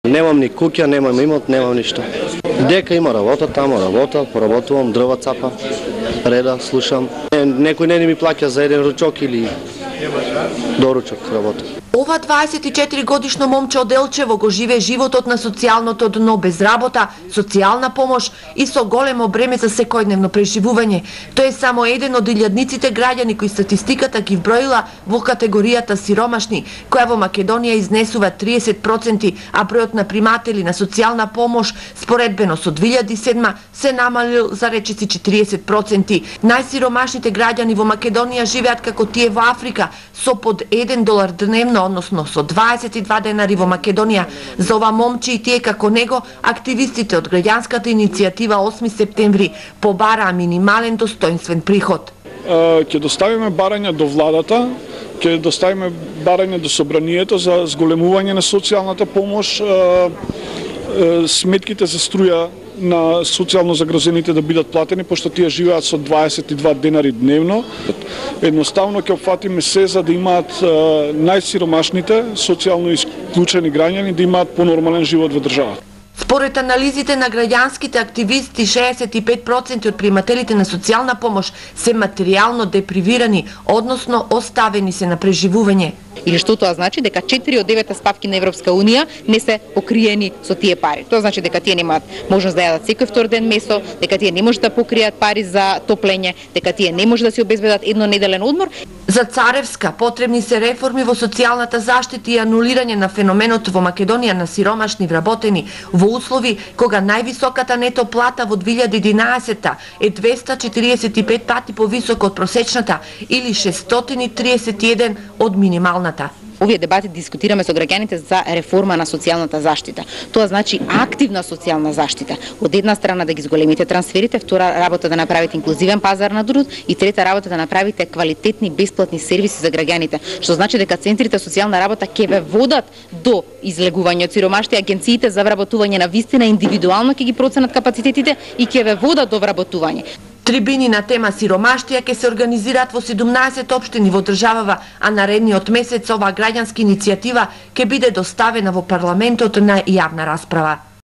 Немам ни куќа, немам имот, немам ништо. Дека има работа, тамо работа, поработувам, дрва цапа, реда, слушам. Некој не ми плаќа за еден ручок или доручок работа. Ова 24 годишно момче од Елчево го живее животот на социјалното дно без работа, социјална помош и со големо бреме за секојдневно преживување. Тој е само еден од илјадниците граѓани кои статистиката ги вброила во категоријата сиромашни, која во Македонија изнесува 30%, а бројот на приматели на социјална помош споредбено со 2007 се намалил за речиси 40%. Најсиромашните граѓани во Македонија живеат како тие во Африка, со под $1 дневно, односно со 22 денари во Македонија. За ова момче и тие како него, активистите од граѓанската иницијатива 8 септември побараа минимален достоинствен приход. Ќе доставиме барања до владата, ќе доставиме барања до собранието за зголемување на социјалната помош, сметките за струја на социјално загрозените да бидат платени, пошто тие живеат со 22 денари дневно. Едноставно ќе опфатиме се за да имаат најсиромашните, социјално исклучени граѓани да имаат понормален живот во државата. Според анализите на граѓанските активисти, 65% од примателите на социјална помош се материјално депривирани, односно оставени се на преживување. Или што тоа значи? Дека 4 од 9 ставки на Европска Унија не се покриени со тие пари. Тоа значи дека тие немаат можност да јадат секој втор ден месо, дека тие не можат да покријат пари за топлење, дека тие не можат да си обезбедат еднонеделен одмор. За Царевска потребни се реформи во социјалната заштита и анулирање на феноменот во Македонија на сиромашни вработени во услови кога највисоката нето плата во 2011 е 245 пати повисока од просечната или 631 од минималната. Овие дебати дискутираме со граѓаните за реформа на социјалната заштита. Тоа значи активна социјална заштита. Од една страна да ги зголемите трансферите, втора работа да направите инклузивен пазар на труд и трета работа да направите квалитетни бесплатни сервиси за граѓаните, што значи дека центрите социјална работа ќе ве водат до излегување од сиромаштија, агенциите за вработување на вистина индивидуално ќе ги проценат капацитетите и ќе ве водат до вработување. Трибини на тема сиромаштија ќе се организираат во 17 општини во државава, а наредниот месец оваа граѓанска иницијатива ќе биде доставена во парламентот на јавна расправа.